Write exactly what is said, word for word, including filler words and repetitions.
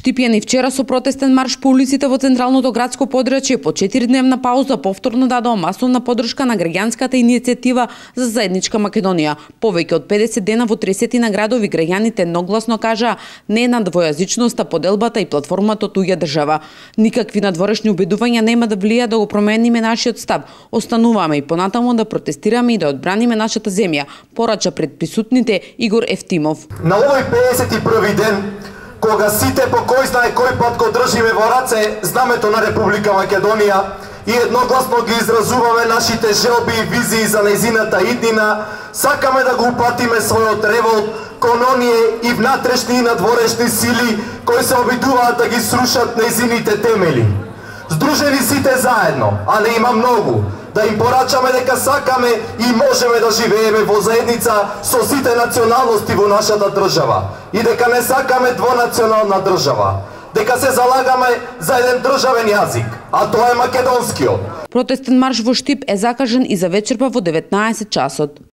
Штипјан и вчера со протестен марш по улиците во централното градско подрачје по четиридневна пауза повторно дадоа масовна поддршка на граѓанската иницијатива за заедничка Македонија. Повеќе од педесет дена во тридесет градови граѓаните едногласно кажаа не на двојазичноста, поделбата и платформата од туѓа држава. Никакви надворешни убедувања нема да влијаат да го промениме нашиот став. Остануваме и понатаму да протестираме и да одбраниме нашата земја, порача пред присутните Игор Ефтимов. На овој педесет и први ден, кога сите по кој знае кој пат го држиме во раце знамето на Република Македонија и едногласно ги изразуваме нашите желби и визии за нејзината иднина, сакаме да го упатиме својот револт кон оние и внатрешни и надворешни сили кои се обидуваат да ги срушат нејзините темели. Здружени сите заедно, а не има многу, да им порачаме дека сакаме и можеме да живееме во заедница со сите националности во нашата држава и дека не сакаме двонационална држава, дека се залагаме за еден државен јазик, а тоа е македонскиот. Протестен марш во Штип е закажан и за вечерва во деветнаесет часот.